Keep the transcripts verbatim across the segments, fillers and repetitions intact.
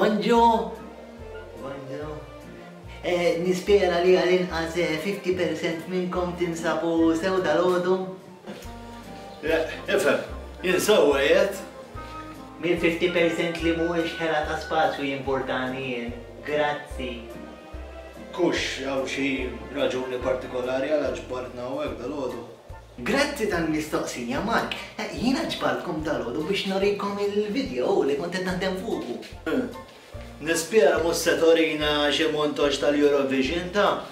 Bonġu! Bonġu. Eh, nispera li għal-inqas fifty percent minnkom tinsabu sew dal-għodu. Ifhem, jien sewwa qiegħed. Mill fifty percent li mhuwiex ħela ta' spazju jimportani jien. Grazzi. Kux hawn xi raġuni partikolari għal ġbartna hawnhekk dal-għodu? Grazzi tal-mistoqsija, Mark. Jiena ġbartkom dal-għodu biex norikom il-video li kont qed naħdem fuqu. Nispera mhux se torina xi montaġġ tal-Eurovision ta'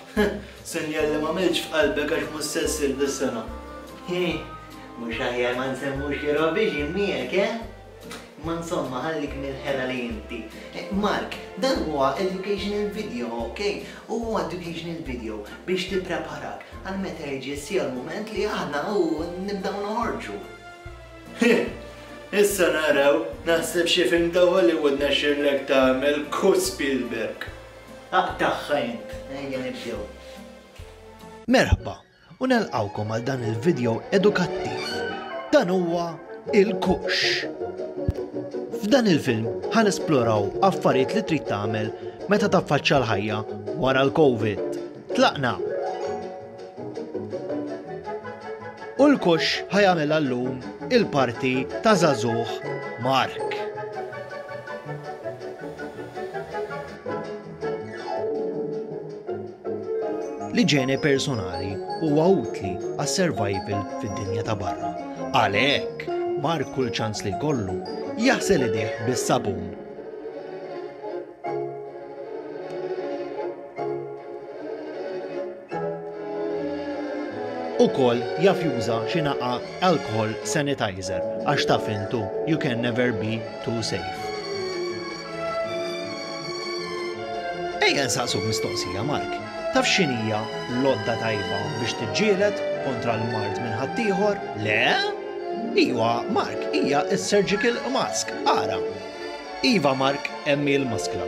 sinjal li m'għamiltx f'qalbek għax mhux se ssir dis-sena. Mhux aħjar ma nsemmux Eurovision miegħek, eh? Ma insomma, ħallik mill-ħela li inti. Mark, dan huwa educational video, ok? Huwa educational video biex tippreparak għal meta jiġi ssir l-mument li aħna u nibdew noħorġu. Issa naraw, naħseb xi film ta' Hollywood nexxirlek tagħmel ku Spielberg. Aqtagħha int, ejja nibdew. Merħba, u nelqawkom għal dan il-video edukattiv. Dan huwa il-Kux. F'dan il-film ħa nesploraw affarijiet li trid tagħmel meta taffaċċja l-ħajja wara l-Covid. Tlaqna! U l-Kux ħa jagħmilha llum il-parti ta' żagħżugħ Mark. L-iġene personali huwa utli għas-survival fid-dinja ta' barra. Għalhekk, Mark kull ċans li jkollu jaħsel idejh bis-sabun. Ukoll jaf juża xi naqa alcohol sanitizer għax taf intu you can never be too safe. Ejja nsaqsuk mistoqsija, Mark. Taf x'inhija l-għodda tajba biex tiġġieled kontra l-mard minn ħaddieħor? Le? Iwa, Mark, hija s-surgical mask, ara. Iva, Mark, hemm hi l-maskla.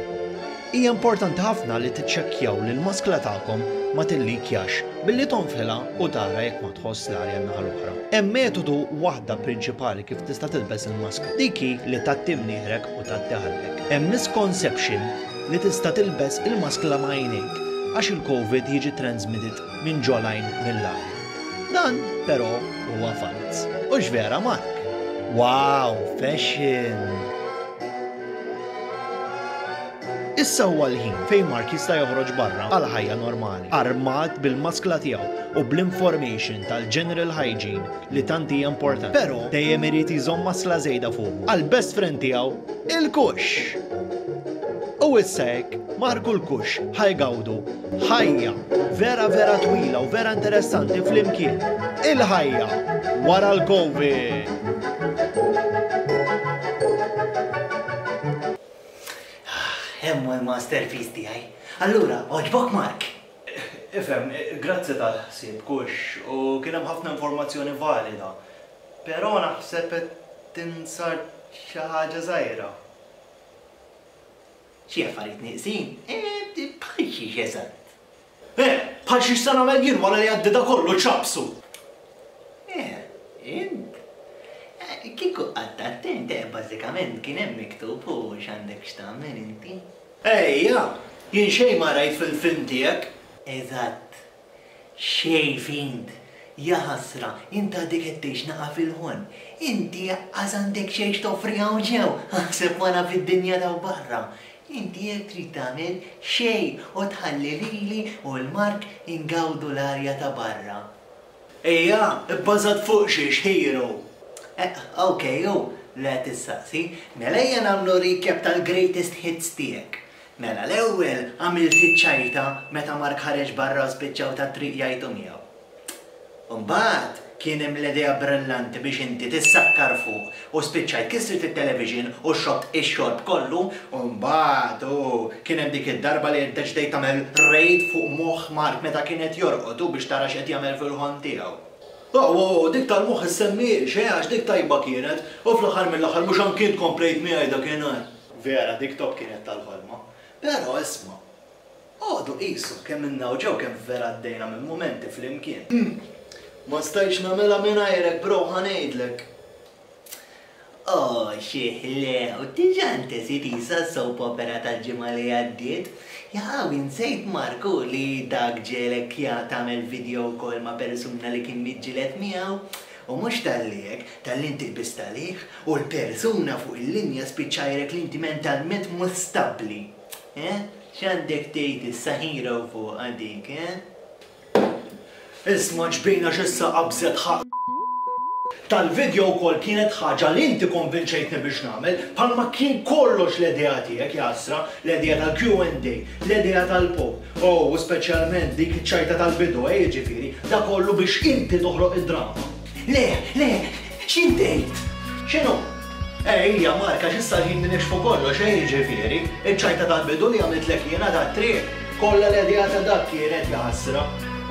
Hija importanti ħafna li tiċċekkjaw li l-maskla tagħkom ma tillikjax billi tonfilha u tara jekk ma tħoss l-arja n-naħa l-oħra. Hemm metodu waħda prinċipali kif tista' tilbes il-maskla, dik hi li tgħatti mnieħrek u tgħatti ħalqek. Hemm misconception li tista' tilbes il-maskla ma' għajnejk għax il-COVID jiġi transmitted minn ġolajn mill-arja. Dan però huwa falz. U x'vera, Mark? Wow, fashion! Issa huwa l-ħin fejn Mark jista' joħroġ barra għal ħajja normali, armat bil-maskla tiegħu u bl-information tal-general hygiene li tant hija importanti. Però dejjem irid iżomm maskla żejda fuqu għal best friend tiegħu, il-Kux. U issa hekk, Mark u l-Kux ħajgawdu ħajja vera vera twila u vera interessanti flimkien. Il-ħajja wara l-COVID. Hemm l-masterpiece tiegħi. Allura, għoġbok Mark? Ifhem, grazzi tal-ħsieb Kux, u kien hemm ħafna informazzjoni valida. Però naħseb qed tinsar xi ħaġa żgħira. Xi affarijiet nieqsin? Eh, bħal xiex eżatt. Eh, bħal xiex se nagħmel jien wara li għaddi da kollu ċapsu. Eh, int. Kieku qatt attent, eh, bażikament kien hemm miktub u x'għandek x'tagħmel inti. Ejja, jien xejn ma rajt fil-film tiegħek. Eżatt. Xejn fint. Ja ħasra, int għadek qed tgħix naqa' fil-ħon. Inti qas għandek xejn x'toffri hawn ġew, aħseb wara fid-dinja ta' barra. Inti jekk trid tagħmel xejn u tħalli lili u l-Mark ingawdu l-arja ta' barra. Ejja, ibbażat fuq xiex hero. Eh, ok, u le tissaqsi, mela ejja nagħmlu recap tal-greatest hits tiegħek. Mela l-ewwel għamilt iċ-ċajta meta Mark ħareġ barra u spiċċaw tat-triq jgħidu miegħu. Imbagħad kien hemm l-idea brillanti biex inti tissakkar fuq u spiċċajt kissrt it-television u xobt ix-xorb kollu, u mbagħad u kien hemm dik id-darba li ddeċidejt tagħmel raid fuq moħħ Mark meta kien qed jorqod u biex tara x'qed jagħmel fil-ħon tiegħu. Oh, oh, dik tal-moħħ issemmiex, eh, għax dik tajba kienet, u fl-aħħar mill-aħħar mhux anki int komplejt miegħi dakinhar. Vera, dik top kienet tal-ħolma. Però isma', għodu qisu kemm minna u ġew kemm vera għaddejna minn mumenti flimkien. Ma stajtx nagħmilha mingħajrek, bro, ħa ngħidlek. Oh, xi ħlew, diġà ntesiet isa s-soap opera tal-ġimgħa li għaddiet. Jaw, insejt Marku li dak ġiegħlek ja tagħmel video call ma' persuna li kien miġġieled miegħu. U mhux talli hekk, talli inti qbiżt għalih u l-persuna fuq il-linja spiċċajrek li inti mentalment mhux stabbli. Eh? X'għandek tgħid issa hero fuq dik, eh? Isma' ġbina x'issa qabżet ħaq tal-video call kienet ħaġa li inti konvinċejtni biex nagħmel, bħalma kien kollox l-idea tiegħek jasra, l-idea tal-Q and A, l-idea tal-pop. Oh, u speċjalment dik iċ-ċajta tal-bidu, eh, jiġifieri, da kollu biex inti toħloq id-drama. Le, le, x'intejt? X'inhu? Ejja, Marka, x'issa ħin nikxfu kollox, eh, jiġifieri, iċ-ċajta tal-bidu li għamiltlek jiena tat-triq, kollha l-idea ta' dak kienet jasra.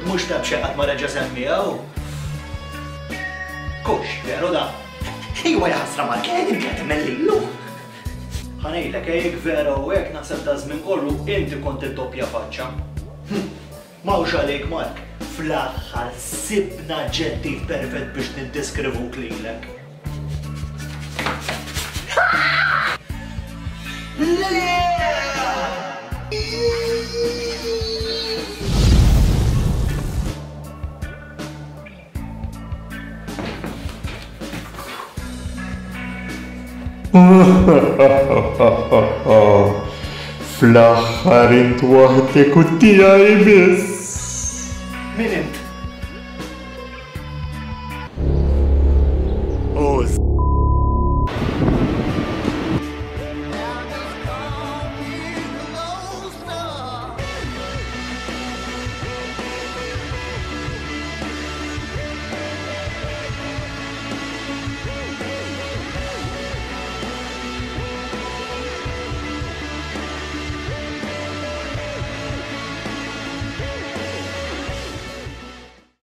Mhux ta' b'xi qatt ma reġa' semmiha. Kux, veru da? Iwa jaħasra Mark, inti qed tagħmel. Ħa ngħidlek, jekk vera u hekk naħseb da żmien kollu inti kont id-doppja faċċa. Hm, Mawx għalik Mark, fl-aħħar sibna aġġettiv perfett biex niddeskrivuk lilek. Fl-aħħar int waħdek u tiegħi biss. Min int?